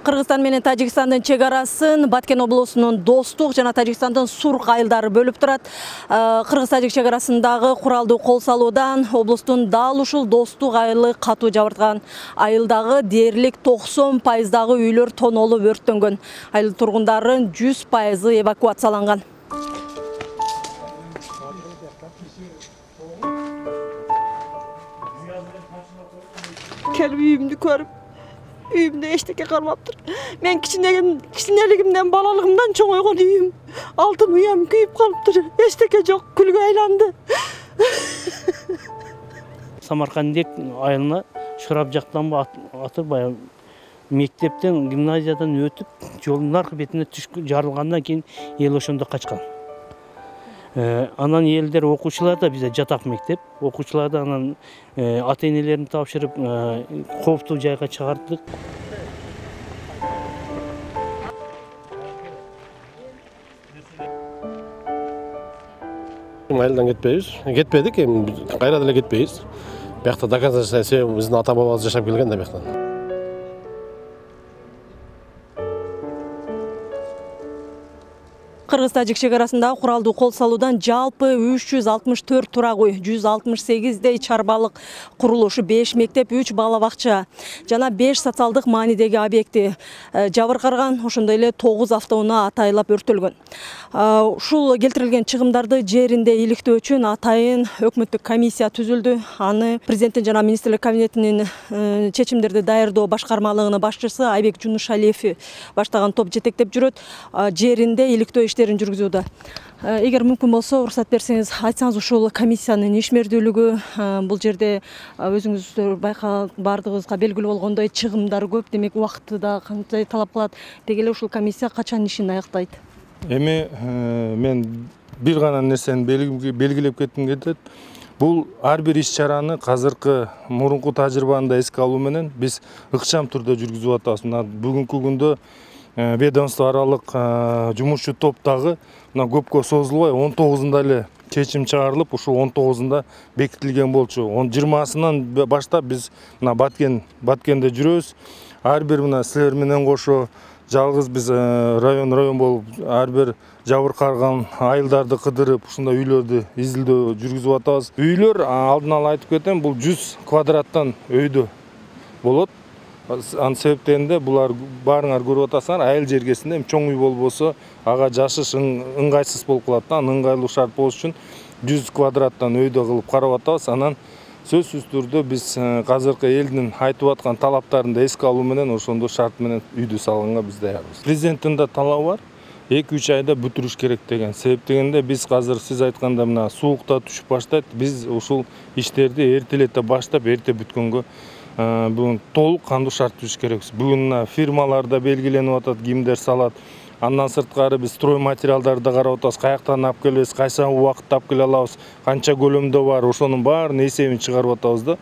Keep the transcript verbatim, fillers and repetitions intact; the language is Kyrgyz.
Кыргызстан менен Тажикстандын чек арасын Баткен облусунун Достук жана Тажикстандын Сурк айылдары бөлүп турат. Кыргыз-Тажик чек арасындагы куралдуу кол салуудан облустун дал ушул Достук айылы катуу жабырткан. Айылдагы дээрлик токсон пайыздагы үйлөр тонолуп өрттөнгөн. Айыл тургундарын жүз пайызы эвакуацияланган. Келип үйүмдү көрүп, үйүмдө эчтеке калмаптыр. Мен кичинелигимден, балалыгымдан чоңойгон үйүм, алтын уям күйүп калыптыр. Эчтеке жок, күлгө айланды. Самаркандек айылына Шырап жактан атып, баягы мектептен, гимназиядан өтүп, жолдун аркы бетине түшүп жарылгандан кийин эл ошондо качкан. Анан элдер, окуучулар да бизде жатак мектеп, окуучулар да анан ата-энелерин тапшырып, кооптуу жайга чыгардык. Айылдан кетпейбиз, кетпедик, эми кайра деле кетпейбиз. Биякта доказательство себеби биздин ата-бабабыз жашап келген да бияктан. Кыргыз-Тажик чек арасындагы куралдуу кол салуудан жалпы үч жүз алтымыш төрт турак үй, жүз алтымыш сегиздей чарбалык курулуш, беш мектеп, үч бала бакча жана беш социалдык маанидеги объекти жабыркарган, ошондой эле тогуз автоунаа атайылап өрттөлгөн. Ушул келтирилген чыгымдарды жеринде иликтөө үчүн атайын өкмөттүк комиссия түзүлдү. Аны президенттин жана министрлер кабинетинин чечимдерди даярдоо башкармалыгынын башчысы Айбек Жунушалиев баштаган топ жетектеп жүрөт. Жеринде иликтөө иштерин жүргүзүүдө. Эгер мүмкүн болсо, уруксат берсеңиз, айтсаңыз ушул комиссиянын ишмердүүлүгү, бул жерде өзүңүздөр байкап бардыгыбызга белгилүү болгондой чыгымдар көп, демек убакыты да кандай талап кылат. Деги эле ушул комиссия качан ишин аяктайт? Эми мен бир гана нерсени белгилеп кетким келет. Бул ар бир иш-чараны казыркы мурунку тажрыйбаны да эске алуу менен биз ыкчам түрдө жүргүзүп атабыз. Мына бүгүнкү күндө ведомство аралык жумушчу топтагы мына көпкө созулбай он тогузунда эле чечим чыгарылып, ушул он тогузунда бекитилген болчу. жыйырмасынан баштап биз мына Баткен Баткенде жүрөбүз. Ар бир мына силер менен кошо жалгыз биз район район болуп ар бир жабыркарган айылдарды кыдырып, ушундай үйлөрдү изилдөө жүргүзүп атабыз. Үйлөр, алдын ала айтып кетем, бул жүз квадраттан өйдө болот. Анын себептеринде булар баарыңар көрүп атасыңар, айыл жергесинде чоң үй болбосо ага жашыш ыңгайсыз болуп калат да. Анын ыңгайлуу шарт болуш үчүн жүз квадраттан өйдө кылып карап атабыз. Анан сөзсүз түрдө биз казыркы элдин айтып аткан талаптарын да эске алуу менен ошондо шарт менен үйдү салганга биз даярбыз. Президенттин да талабы бар, эки үч айда бүтүрүш керек деген. Себеп дегенде биз азыр сиз айтканда мына суукта түшүп баштайт. Биз ушул иштерди эртелете баштап, эрте бүткөнгө бүгүн толук кандуу шарт түзүш керекпиз. Бүгүн фирмаларда белгиленип атат, кимдер салат. Андан сырткары биз строй материалдарды карап атабыз, каяктан алып келебиз, кайсы убакытта алып келе алабыз, канча көлөмдө бар, ошонун баарын эсебин чыгарып атабыз да.